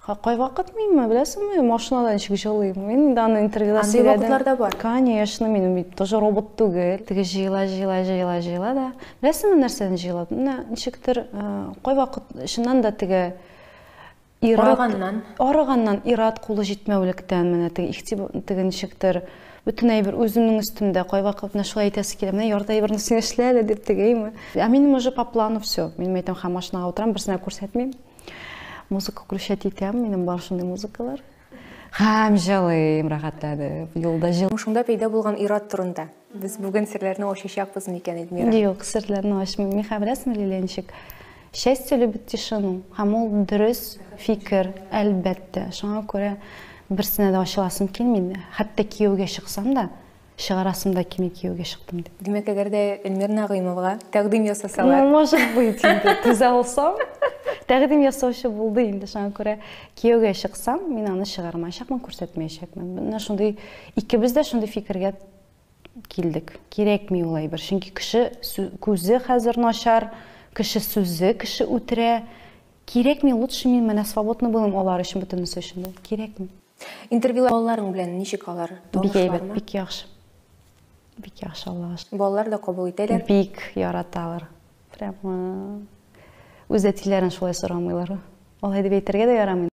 Кайвакыт минме, беләсеңме, машинада ничек җылыйм. Мин инде аны интервьюда Андый сөйләдем. вакытлар да бар. Конечно, минем бит тоже робот түгел. Теге җыела, җыела, җыела, җыела да. Беләсеңме, нәрсәдән җыела? Менә ничектер, кайвакыт чыннан да теге ир-ат Арыганнан. Арыганнан, ир-ат кулы җитмәүлектән, менә теге игътибар, теге ничектер, бөтен әйбер үземнең өстемдә. Кайвакыт менә шулай әйтәсе килә, менә ярты әйберне син эшлә әле дип тегейме. Ә минем уже по плану все. Мин әйтәм, һәм машинага утырам, берсенә күрсәтмим. Музыка включать итәм, минем бар шундый музыкалар. Һәм җылыйм, рәхәтләнеп, юлда җыл. Шунда пәйда булган ир-ат турында без бүген серләрне ачачакбыз микән, Эльмира? Юк, серләрне ачмыйм. Мин хәзер беләсеңме, Лилия, ничек? Счастье любит тишину. Һәм ул дөрес фикер, әлбәттә. Шуңа күрә берсенә дә ачыласым килми. Хәтта кияүгә чыксам да, чыгарасым да килми кияүгә чыктым дип. Димәк, әгәр дә Эльмира Нәгыймовага тәкъдим ясасалар. Ну, может быть, инде түзә алсам. Тәкъдим ясаучы булды инде, шуңа күрә кияүгә чыксам, мин аны чыгармаячакмын, күрсәтмәячәкмен. Менә шундый икебез дә шундый фикергә килдек. Кирәкми ул әйбер, чөнки кеше күзе хәзер начар, кеше сүзе кеше үтерә. Кирәкми, лучше мин менә свободный булыйм алар өчен, бөтенесе өчен дә. Кирәкми. Интервью балаларың белән ничек алар? Бик әйбәт, бик яхшы. Бик яхшы, Аллага шөкер. Балалар да кабул итәләр. Бик яраталар. Прямо үз әтиләрен шулай сорамыйлар. Алай дип әйтергә дә ярамый.